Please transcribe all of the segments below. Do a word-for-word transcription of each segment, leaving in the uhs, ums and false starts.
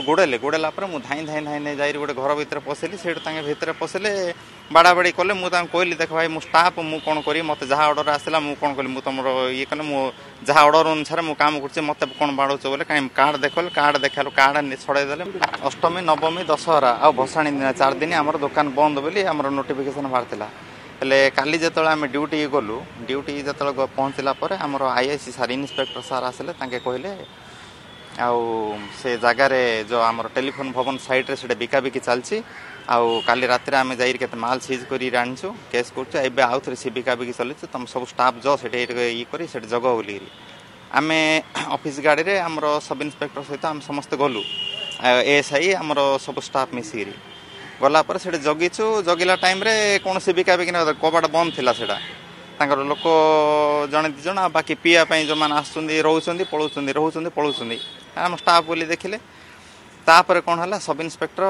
ଗୋଡ଼େଇଲେ, ଗୋଡ଼େଇଲା ପରେ ମୁଁ ଧାଇଁ ଧାଇଁ ଧାଇଁ ଧାଇଁ ଯାଇକି ଗୋଟେ ଘର ଭିତରେ ପଶିଲି। ସେଇଠୁ ତାଙ୍କେ ଭିତରେ ପଶିଲେ, ବାଡ଼ାବାଡ଼ି କଲେ। ମୁଁ ତାଙ୍କୁ କହିଲି, ଦେଖ ଭାଇ, ମୁଁ ଷ୍ଟାଫ୍, ମୁଁ କ'ଣ କରିବି? ମୋତେ ଯାହା ଅର୍ଡ଼ର ଆସିଲା ମୁଁ କ'ଣ କଲି? ମୁଁ ତୁମର ଇଏ କଲେ, ମୁଁ ଯାହା ଅର୍ଡ଼ର ଅନୁସାରେ ମୁଁ କାମ କରୁଛି, ମୋତେ କ'ଣ ବାଡ଼ଉଛ ବୋଲେ। କାହିଁ କାର୍ଡ଼ ଦେଖଲେ, କାର୍ଡ଼ ଦେଖାଇଲୁ, କାର୍ଡ଼ ଛଡ଼େଇ ଦେଲେ। ଅଷ୍ଟମୀ, ନବମୀ, ଦଶହରା ଆଉ ଭସାଣି ଦିନ ଚାରି ଦିନ ଆମର ଦୋକାନ ବନ୍ଦ ବୋଲି ଆମର ନୋଟିଫିକେସନ୍ ବାହାରିଥିଲା। ହେଲେ କାଲି ଯେତେବେଳେ ଆମେ ଡ୍ୟୁଟି ଗଲୁ, ଡ୍ୟୁଟି ଯେତେବେଳେ ପହଞ୍ଚିଲା ପରେ ଆମର I I C sir, inspector sir ଆସିଲେ। ତାଙ୍କେ କହିଲେ ଆଉ ସେ ଜାଗାରେ ଯେଉଁ ଆମର ଟେଲିଫୋନ୍ ଭବନ ସାଇଡ଼୍ରେ ସେଇଟା ବିକାବିକି ଚାଲିଛି, ଆଉ କାଲି ରାତିରେ ଆମେ ଯାଇକି କେତେ ମାଲ ସିଜ୍ କରି ଆଣିଛୁ, କେସ୍ କରୁଛୁ, ଏବେ ଆଉ ଥରେ ସେ ବିକାବିକି ଚାଲିଛି, ତମ ସବୁ ଷ୍ଟାଫ୍ ଯ ସେଠି ଇଏ କରି ସେଠି ଜଗ ବୋଲିକିରି। ଆମେ ଅଫିସ୍ ଗାଡ଼ିରେ ଆମର ସବ୍ ଇନ୍ସପେକ୍ଟର ସହିତ ଆମେ ସମସ୍ତେ ଗଲୁ, ଏଏସ୍ I, ଆମର ସବୁ ଷ୍ଟାଫ୍ ମିଶିକିରି ଗଲା ପରେ ସେଠି ଜଗିଛୁ। ଜଗିଲା ଟାଇମ୍ରେ କୌଣସି ବିକାବିକି କବାଟ ବନ୍ଦ ଥିଲା। ସେଇଟା ତାଙ୍କର ଲୋକ ଜଣେ ଦୁଇ ଜଣ, ଆଉ ବାକି ପିଇବା ପାଇଁ ଯେଉଁମାନେ ଆସୁଛନ୍ତି, ରହୁଛନ୍ତି, ପଳାଉଛନ୍ତି, ରହୁଛନ୍ତି, ପଳାଉଛନ୍ତି। ଆମ ଷ୍ଟାଫ୍ ବୋଲି ଦେଖିଲେ। ତାପରେ କ'ଣ ହେଲା, ସବ୍ ଇନ୍ସପେକ୍ଟର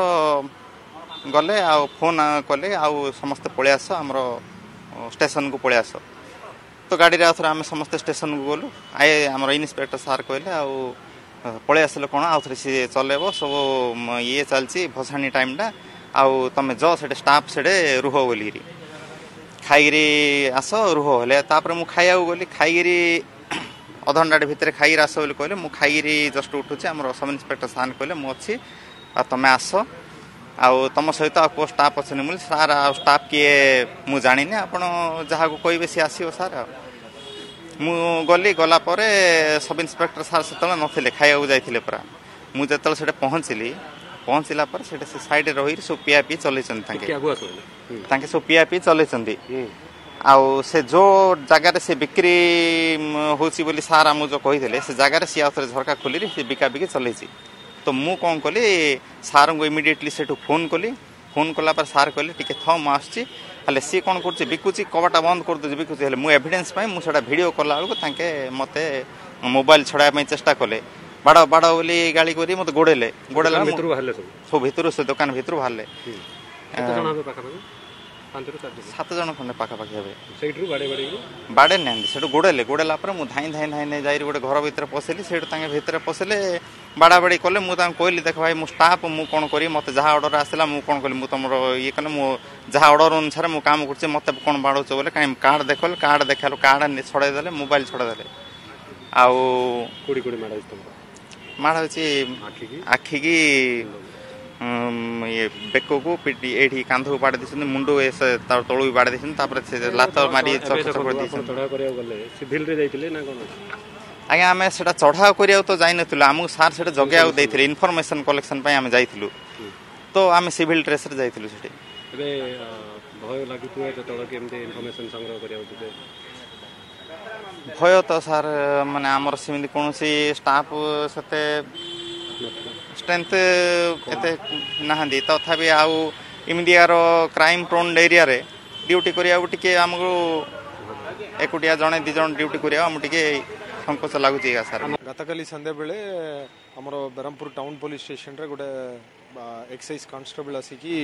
ଗଲେ ଆଉ ଫୋନ୍ କଲେ, ଆଉ ସମସ୍ତେ ପଳେଇ ଆସ, ଆମର ଷ୍ଟେସନକୁ ପଳେଇ ଆସ। ତ ଗାଡ଼ିରେ ଆଉ ଥରେ ଆମେ ସମସ୍ତେ ଷ୍ଟେସନକୁ ଗଲୁ। I ଆମର ଇନ୍ସପେକ୍ଟର ସାର୍ କହିଲେ, ଆଉ ପଳେଇ ଆସିଲେ କ'ଣ, ଆଉ ଥରେ ସିଏ ଚଲେଇବ, ସବୁ ଇଏ ଚାଲିଛି ଭସାଣି ଟାଇମ୍ଟା, ଆଉ ତମେ ଯ ସେଠି ଷ୍ଟାଫ୍ ସେଠି ରୁହ ବୋଲିକିରି, ଖାଇକିରି ଆସ, ରୁହ। ହେଲେ ତାପରେ ମୁଁ ଖାଇବାକୁ ଗଲି। ଖାଇକିରି ଅଧଘଣ୍ଟାଟେ ଭିତରେ ଖାଇକିରି ଆସ ବୋଲି କହିଲେ। ମୁଁ ଖାଇକିରି ଜଷ୍ଟ ଉଠୁଛି, ଆମର ସବ୍ ଇନ୍ସପେକ୍ଟର ସାର୍ କହିଲେ, ମୁଁ ଅଛି ଆଉ ତମେ ଆସ, ଆଉ ତମ ସହିତ ଆଉ କେଉଁ ଷ୍ଟାଫ୍ ଅଛନ୍ତି? ବୋଲି ସାର୍, ଆଉ ଷ୍ଟାଫ୍ କିଏ ମୁଁ ଜାଣିନି, ଆପଣ ଯାହାକୁ କହିବେ ସିଏ ଆସିବ ସାର୍। ଆଉ ମୁଁ ଗଲି। ଗଲା ପରେ ସବ୍ ଇନ୍ସପେକ୍ଟର ସାର୍ ସେତେବେଳେ ନଥିଲେ, ଖାଇବାକୁ ଯାଇଥିଲେ ପରା। ମୁଁ ଯେତେବେଳେ ସେଠି ପହଞ୍ଚିଲି, ପହଞ୍ଚିଲା ପରେ ସେଠି ସେ ସାଇଡ଼ରେ ରହିକି ସବୁ ପିଆ ପିଇ ଚଲେଇଛନ୍ତି ତାଙ୍କେ। ତାଙ୍କେ ସବୁ ପିଆ ପିଇ ଚଲେଇଛନ୍ତି। ଆଉ ସେ ଯେଉଁ ଜାଗାରେ ସେ ବିକ୍ରି ହେଉଛି ବୋଲି ସାର୍ ଆମକୁ ଯେଉଁ କହିଥିଲେ, ସେ ଜାଗାରେ ସିଏ ଆଉ ଥରେ ଝରକା ଖୋଲିକି ସେ ବିକା ବିକି ଚଲେଇଛି। ତ ମୁଁ କ'ଣ କଲି, ସାର୍ଙ୍କୁ ଇମିଡ଼ିଏଟଲି ସେଠୁ ଫୋନ୍ କଲି। ଫୋନ୍ କଲା ପରେ ସାର୍ କହିଲେ, ଟିକେ ଥ, ମୁଁ ଆସୁଛି। ହେଲେ ସିଏ କ'ଣ କରୁଛି, ବିକୁଛି, କବାଟା ବନ୍ଦ କରିଦେଉଛି, ବିକୁଛି। ହେଲେ ମୁଁ ଏଭିଡେନ୍ସ ପାଇଁ ମୁଁ ସେଇଟା ଭିଡ଼ିଓ କଲା ବେଳକୁ ତାଙ୍କେ ମୋତେ ମୋବାଇଲ ଛଡ଼ାଇବା ପାଇଁ ଚେଷ୍ଟା କଲେ। ବାଡ଼ ବାଡ଼ ବୋଲି ଗାଳି କରି ମୋତେ ଗୋଡ଼େଇଲେ। ଗୋଡ଼େଇଲା ସବୁ ଭିତରୁ, ସେ ଦୋକାନ ଭିତରୁ ବାହାରିଲେ ସାତ ଜଣ ଖଣ୍ଡେ ପାଖାପାଖି ହେବେ। ବାଡ଼େଇ ନାହାନ୍ତି, ସେଠୁ ଗୋଡ଼େଇଲେ। ଗୋଡ଼େଇଲା ପରେ ମୁଁ ଧାଇଁ ଧାଇଁ ଧାଇଁ ଧାଇଁ ଯାଇକି ଗୋଟେ ଘର ଭିତରେ ପଶିଲି। ସେଇଠୁ ତାଙ୍କେ ଭିତରେ ପଶିଲେ, ବାଡ଼ାବାଡ଼ି କଲେ। ମୁଁ ତାଙ୍କୁ କହିଲି, ଦେଖ ଭାଇ, ମୁଁ ଷ୍ଟାଫ୍, ମୁଁ କ'ଣ କରିବି? ମୋତେ ଯାହା ଅର୍ଡ଼ର ଆସିଲା ମୁଁ କ'ଣ କଲି? ମୁଁ ତୁମର ଇଏ କଲେ, ମୁଁ ଯାହା ଅର୍ଡ଼ର ଅନୁସାରେ ମୁଁ କାମ କରୁଛି, ମୋତେ କ'ଣ ବାଡ଼ଉଛ ବୋଲେ। କାହିଁ କାର୍ଡ଼ ଦେଖଲେ, କାର୍ଡ଼ ଦେଖାଇଲୁ, କାର୍ଡ଼ ଛଡ଼େଇ ଦେଲେ, ମୋବାଇଲ ଛଡ଼େଇ ଦେଲେ। ଆଉ ମାଡ଼ ହେଉଛି ଆଖିକି, ଇଏ ବେକକୁ, ଏଇଠି କାନ୍ଧକୁ ବାଡ଼େଇ ଦେଇଛନ୍ତି, ମୁଣ୍ଡ ତଳକୁ ବି ବାଡ଼େଇ ଦେଇଛନ୍ତି। ତାପରେ ସେ ଲାତ ମାରି ଚକ ଚକ ଦେଇଛନ୍ତି। ଆଜ୍ଞା, ଆମେ ସେଟା ଚଢ଼ାଉ କରିବାକୁ ତ ଯାଇନଥିଲୁ, ଆମକୁ ସାର୍ ସେଟା ଜଗେଇବାକୁ ଦେଇଥିଲେ। ଇନଫର୍ମେସନ କଲେକ୍ସନ ପାଇଁ ଆମେ ଯାଇଥିଲୁ, ତ ଆମେ ସିଭିଲ ଡ୍ରେସରେ ଯାଇଥିଲୁ ସେଠି। ଏବେ ଭୟ ଲାଗୁଥିବ ଯେତେବେଳେ କେମିତି ଇନଫର୍ମେସନ ସଂଗ୍ରହ କରିବାକୁ ଯିବେ? ଭୟ ତ ସାର୍, ମାନେ ଆମର ସେମିତି କୌଣସି ଷ୍ଟାଫ୍ ସେତେ ଷ୍ଟ୍ରେନ୍ଥ ଏତେ ନାହାନ୍ତି। ତଥାପି ଆଉ ଏମିତିଆର କ୍ରାଇମ୍ ପ୍ରୋନ୍ ଏରିଆରେ ଡ୍ୟୁଟି କରିବାକୁ ଟିକେ ଆମକୁ ଏକୁଟିଆ ଜଣେ ଦୁଇ ଜଣ ଡ୍ୟୁଟି କରିବାକୁ ଆମକୁ ଟିକେ ସଂକୋଚ ଲାଗୁଛି ସାର୍। ଗତକାଲି ସନ୍ଧ୍ୟାବେଳେ ଆମର ବ୍ରହ୍ମପୁର ଟାଉନ୍ ପୋଲିସ ଷ୍ଟେସନରେ ଗୋଟେ ଏକ୍ସାଇଜ୍ କନଷ୍ଟେବଳ ଆସିକି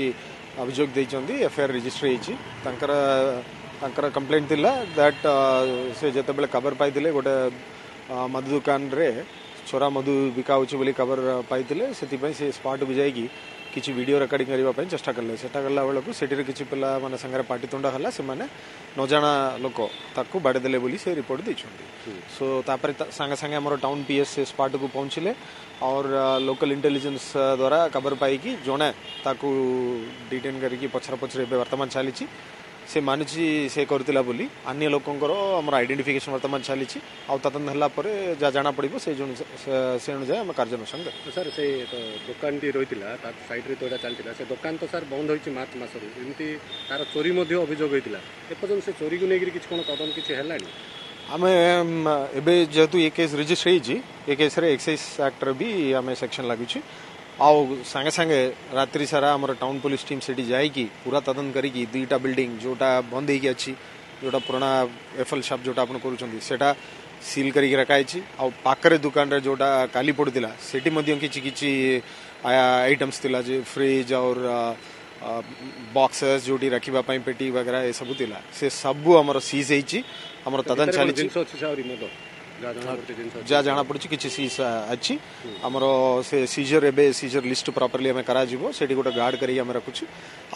ଅଭିଯୋଗ ଦେଇଛନ୍ତି। ଏଫଆଇଆର୍ ରେଜିଷ୍ଟର ହେଇଛି। ତାଙ୍କର ତାଙ୍କର କମ୍ପ୍ଲେଣ୍ଟ ଥିଲା that ସେ ଯେତେବେଳେ ଖବର ପାଇଥିଲେ, ଗୋଟେ ମଦ ଦୋକାନରେ ଚୋରା ମଦ ବିକା ହେଉଛି ବୋଲି ଖବର ପାଇଥିଲେ, ସେଥିପାଇଁ ସେ ସ୍ପଟ୍କୁ ଯାଇକି କିଛି ଭିଡ଼ିଓ ରେକର୍ଡିଂ କରିବା ପାଇଁ ଚେଷ୍ଟା କଲେ। ଚେଷ୍ଟା କଲା ବେଳକୁ ସେଠିରେ କିଛି ପିଲାମାନେ ସାଙ୍ଗରେ ପାଟିତୁଣ୍ଡ ହେଲା, ସେମାନେ ନଜାଣା ଲୋକ ତାକୁ ବାଡ଼େଇ ଦେଲେ ବୋଲି ସେ ରିପୋର୍ଟ ଦେଇଛନ୍ତି। ସୋ ତାପରେ ସାଙ୍ଗେ ସାଙ୍ଗେ ଆମର ଟାଉନ୍ ପି ଏସ୍ ସେ ସ୍ପଟ୍କୁ ପହଞ୍ଚିଲେ और ଲୋକାଲ ଇଣ୍ଟେଲିଜେନ୍ସ ଦ୍ୱାରା ଖବର ପାଇକି ଜଣେ ତାକୁ ଡିଟେନ୍ କରିକି ପଛରେ ପଛରେ ଏବେ ବର୍ତ୍ତମାନ ଚାଲିଛି। ସେ ମାନୁଛି ସେ କରିଥିଲା ବୋଲି। ଅନ୍ୟ ଲୋକଙ୍କର ଆମର ଆଇଡେଣ୍ଟିଫିକେସନ ବର୍ତ୍ତମାନ ଚାଲିଛି, ଆଉ ତଦନ୍ତ ହେଲା ପରେ ଯାହା ଜଣା ପଡ଼ିବ ସେ ସେ ଅନୁଯାୟୀ ଆମେ କାର୍ଯ୍ୟାନୁଷ୍ଠାନ କରିବୁ। ସାର୍, ସେ ଦୋକାନଟି ରହିଥିଲା, ତା ସାଇଡ୍ରେ ତ ଏଇଟା ଚାଲିଥିଲା। ସେ ଦୋକାନ ତ ସାର୍ ବନ୍ଦ ହୋଇଛି ମାର୍ଚ୍ଚ ମାସରୁ। ଏମିତି ତାର ଚୋରି ମଧ୍ୟ ଅଭିଯୋଗ ହୋଇଥିଲା। ଏପର୍ଯ୍ୟନ୍ତ ସେ ଚୋରିକୁ ନେଇକରି କିଛି କ'ଣ ତଦନ୍ତ କିଛି ହେଲାଣି? ଆମେ ଏବେ ଯେହେତୁ ଏ କେସ୍ ରେଜିଷ୍ଟର ହେଇଛି, ଏ କେସ୍ରେ ଏକ୍ସାଇଜ୍ ଆକ୍ଟର ବି ଆମେ ସେକ୍ସନ ଲାଗୁଛି, ଆଉ ସାଙ୍ଗେ ସାଙ୍ଗେ ରାତ୍ରି ସାରା ଆମର ଟାଉନ୍ ପୋଲିସ ଟିମ୍ ସେଠି ଯାଇକି ପୁରା ତଦନ୍ତ କରିକି ଦୁଇଟା ବିଲ୍ଡିଂ ଯେଉଁଟା ବନ୍ଦ ହେଇକି ଅଛି, ଯେଉଁଟା ପୁରୁଣା ଏଫଏଲ୍ ସପ୍ ଯେଉଁଟା ଆପଣ କରୁଛନ୍ତି, ସେଇଟା ସିଲ୍ କରିକି ରଖାହେଇଛି। ଆଉ ପାଖରେ ଦୋକାନରେ ଯେଉଁଟା କାଲି ପଡ଼ିଥିଲା, ସେଠି ମଧ୍ୟ କିଛି କିଛି ଆଇଟମ୍ସ ଥିଲା ଯେ ଫ୍ରିଜ୍ ଆଉ ବକ୍ସେସ୍ ଯେଉଁଠି ରଖିବା ପାଇଁ ପେଟି ବଗେରା ଏସବୁ ଥିଲା, ସେ ସବୁ ଆମର ସିଜ୍ ହେଇଛି। ଆମର ତଦନ୍ତ ଚାଲିଛି। ଜିନିଷ ଅଛି ଆହୁରି ମଦ ଯାହା ଜଣାପଡ଼ୁଛି ଜିନିଷ ଯାହା ଜଣାପଡ଼ୁଛି କିଛି ସିଜ୍ ଅଛି ଆମର ସେ ସିଜର ଏବେ ସିଜର ଲିଷ୍ଟ ପ୍ରପରଲି ଆମେ କରାଯିବ ସେଠି ଗୋଟେ ଗାର୍ଡ କରିକି ଆମେ ରଖୁଛୁ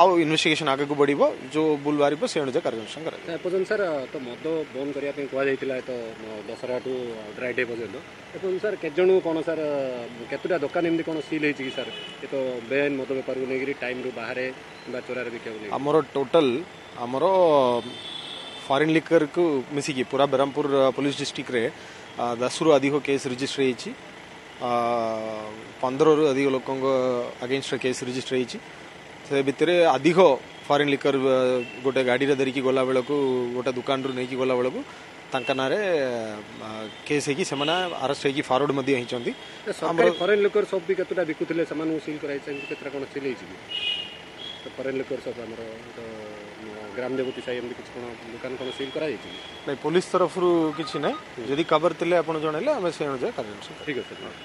ଆଉ ଇନଭେଷ୍ଟିଗେସନ ଆଗକୁ ବଢ଼ିବ ଯୋଉ ଭୁଲ ବାହାରିବ ସେ ଅନୁଯାୟୀ କାର୍ଯ୍ୟାନୁଷ୍ଠାନ କରାଯିବ ଏପର୍ଯ୍ୟନ୍ତ ସାର୍ ତ ମଦ ବନ୍ଦ କରିବା ପାଇଁ କୁହାଯାଇଥିଲା ତ ଦଶହରାଠୁ ଡ୍ରାଇ ଡେ ପର୍ଯ୍ୟନ୍ତ ଏପର୍ଯ୍ୟନ୍ତ ସାର୍ କେତେ ଜଣ କ'ଣ ସାର୍ କେତେଟା ଦୋକାନ ଏମିତି କ'ଣ ସିଲ୍ ହେଇଛି କି ସାର୍ ଏ ତ ବେଆଇନ ମଦ ବେପାରକୁ ନେଇକରି ଟାଇମ୍ରୁ ବାହାରେ କିମ୍ବା ଚୋରାରେ ବିକିବାକୁ ନେଇକି ଆମର ଟୋଟାଲ ଆମର ଫରେନ୍ ଲିକରକୁ ମିଶିକି ପୁରା ବ୍ରହ୍ମପୁର ପୋଲିସ ଡିଷ୍ଟ୍ରିକ୍ଟରେ ଦଶରୁ ଅଧିକ କେସ୍ ରେଜିଷ୍ଟର ହେଇଛି ପନ୍ଦରରୁ ଅଧିକ ଲୋକଙ୍କ ଅଗେନଷ୍ଟରେ କେସ୍ ରେଜିଷ୍ଟର ହେଇଛି ସେ ଭିତରେ ଅଧିକ ଫରେନ୍ ଲିକର ଗୋଟେ ଗାଡ଼ିରେ ଧରିକି ଗଲା ବେଳକୁ ଗୋଟେ ଦୋକାନରୁ ନେଇକି ଗଲା ବେଳକୁ ତାଙ୍କ ନାଁରେ କେସ୍ ହେଇକି ସେମାନେ ଆରେଷ୍ଟ ହେଇକି ଫରୱାର୍ଡ ମଧ୍ୟ ହେଇଛନ୍ତି ସରକାରୀ ଫରେନ୍ ଲିକର ସପ୍ ବି କେତେଟା ବିକୁଥିଲେ ସେମାନଙ୍କୁ ସିଲ୍ କରାଯାଇଛି ଏମିତି କେତେଟା କ'ଣ ସିଲ୍ ହେଇଛି କି ତ ଫରେନ୍ ଲିକର ସପ୍ ଆମର ତ ଗ୍ରାମ ଦେବତୀ ସାହି ଏମିତି କିଛି କ'ଣ ଦୋକାନ କ'ଣ ସିଲ୍ କରାଯାଇଛି କି ନାଇଁ ପୋଲିସ ତରଫରୁ କିଛି ନାହିଁ ଯଦି ଖବର ଥିଲେ ଆପଣ ଜଣେଇଲେ ଆମେ ସେ ଅନୁଯାୟୀ କାର୍ଯ୍ୟାନୁଷ୍ଠାନ ଠିକ୍ ଅଛି ସାର୍